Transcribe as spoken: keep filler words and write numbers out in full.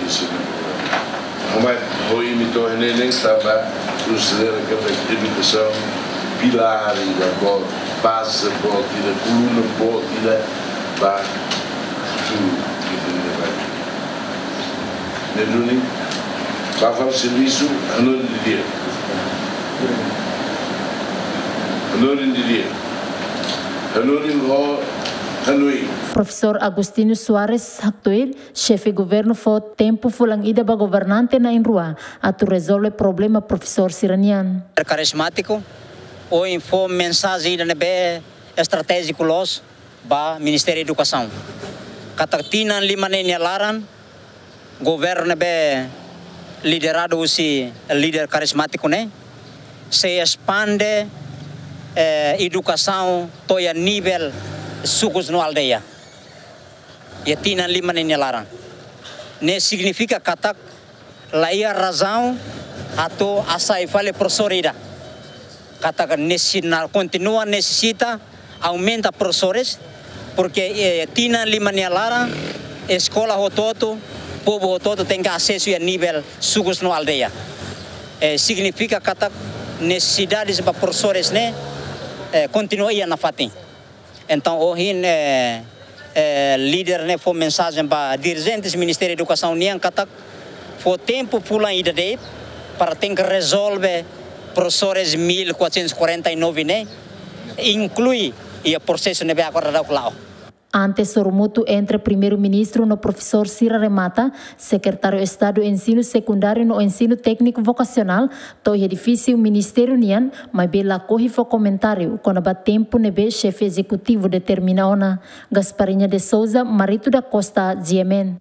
disi. Mas ho imi to'o ne'e ne'e tanba konsidera katak edukasaun pilár ida boot, baze boot ida, koluna boot ida ba futuru ida-ne'ebá. Ne'e duni, ba fali servisu, hanorin didi'ak. Hanorin didi'ak. Hanorin ho hanoin. Profesór Agostinho Soares haktuir, xefe governu fó tempu fulan ida ba governante na'in-rua atu rezolve problema profesór sira-nian. Karizmátiku, ohin fó mensajen ida ne'ebé estratéjiku loos ba Ministériu Edukasaun. Katak tinan lima ne'e nia laran, governu ne'ebé lideradu husi líder karizmátiku ne'e, sei espande, eh, edukasaun to'o iha nivel sukus no aldeia. Iha tinan lima ne'e nia laran. Ne'e signifika katak la iha razaun atu hasai fali profesór ida. Katak ne'e sei kontinua nesesita aumenta profesores, porque, eh, tinan lima nia laran, eskola hotu-hotu, povu hotu-hotu tenke asesu iha nivel sukus no aldeia. Eh, signifika katak nesesidade ba profesores ne'e, eh, kontinua iha nafatin. Entaun, ohin, eh, eh, líder ne'e fó mensajen ba dirijentes Ministériu Edukasaun nian katak fó tempu fulan ida de'it para tenke rezolve profesores mil quatrocentos e quarenta e nove ne'e, inklui iha prosesu ne'ebé agora daudauk la'o. Antes sorumutu entre Primeiru-Ministru no profesór sira remata, Sekretáriu Estadu Ensinu Sekundáriu no Ensinu Tékniku Vokasionál to'o iha edifísiu ministériu nian, maibé lakohi fó komentáriu kona-ba tempu ne'ebé xefe ezekutivu determina ona. Gasparinha de Souza, Marito da Costa, G M N.